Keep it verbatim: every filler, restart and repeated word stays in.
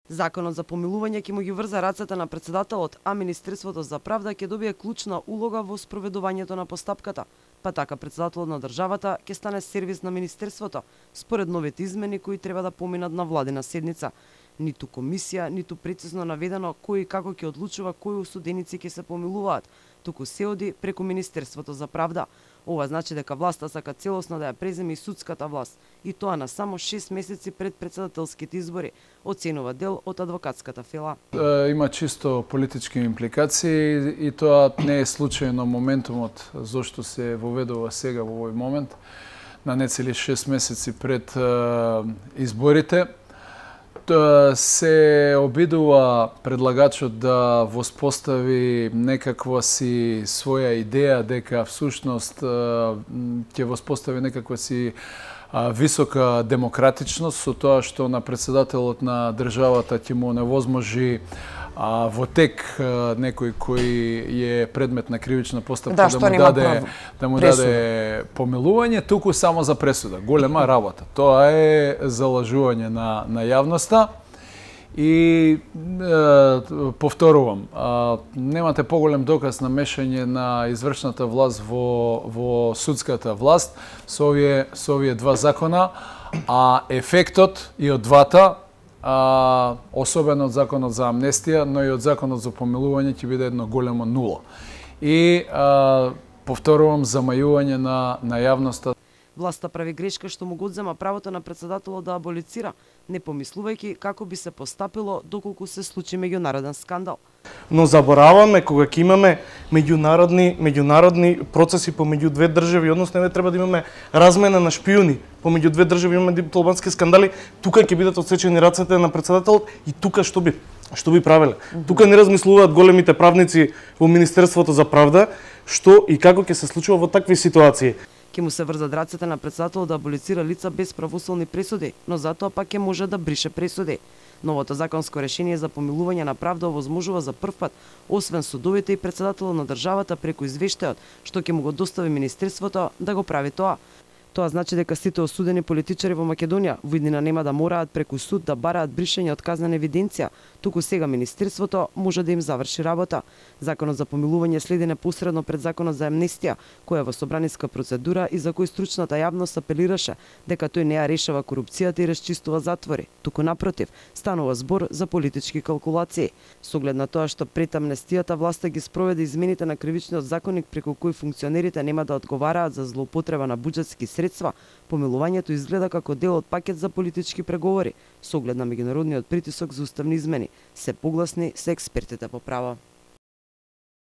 Законот за помилување ќе му ги врза рацете на председателот, а Министерството за правда ќе добие клучна улога во спроведувањето на постапката. Па така председателот на државата ќе стане сервис на Министерството, според новите измени кои треба да поминат на владина седница. Ниту комисија, ниту прецизно наведено кој и како ќе одлучува кои осуденици ќе се помилуваат, туку се оди преку Министерството за правда. Ова значи дека власта сака целосно да ја преземе и судската власт, и тоа на само шест месеци пред председателските избори, оценува дел од адвокатската фила. Има чисто политички импликации и тоа не е случајно моментумот зошто се воведува сега во овој момент, на нецели шест месеци пред изборите. Се обидува предлагачот да воспостави некаква си своја идеја дека всушност ќе воспостави некаква си висока демократичност со тоа што на председателот на државата ќе му невозможи а, во тек а, некој кој е предмет на кривична постапка да, да му даде да му пресуда. даде помилување туку само за пресуда. Голема работа. Тоа е залажување на на јавноста. И е, повторувам, а, немате поголем доказ на мешање на извршната власт во во судската власт со овие со овие два закона, а ефектот и од двата, а, особено од законот за амнестија, но и од законот за помилување ќе биде едно големо нула. И а, повторувам, замајување на на јавноста. Власта прави грешка што му го одзема правото на председателот да аболицира, не помислувајќи како би се постапило доколку се случи меѓународен скандал. Но забораваме кога ќе имаме меѓународни меѓународни процеси помеѓу две држави, односно не треба да имаме размена на шпиуни помеѓу две држави, имаме дипломатски скандали, тука ќе бидат отсечени рацете на председателот и тука што би што би правеле. Mm -hmm. Тука не размислуваат големите правници во Министерството за правда што и како ќе се случува во такви ситуации. Ќе му се врзат рацете на председателот да аболицира лица без правосудни пресуди, но затоа пак ќе може да брише пресуди. Новото законско решение за помилување на правда овозможува за прв пат, освен судовите и председателот на државата преку извештајот, што ќе му го достави Министерството, да го прави тоа. Тоа значи дека сите осудени политичари во Македонија во иднина нема да мораат преку суд да бараат бришење од казнена евиденција, туку сега Министерството може да им заврши работа. Законот за помилување следи непосредно пред Законот за амнестија, која е во собраниска процедура и за кој стручната јавност апелираше дека тој не ја решава корупцијата и расчистува затвори, туку напротив, станува збор за политички калкулации. Со оглед на тоа што пред амнестијата власта ги спроведе измените на кривичниот законник преку кои функционерите нема да одговараат за злоупотреба на буџетски средства, помилувањето изгледа како дел од пакет за политички преговори, со оглед на меѓународниот притисок за уставни измени. Се погласни се експертите по право.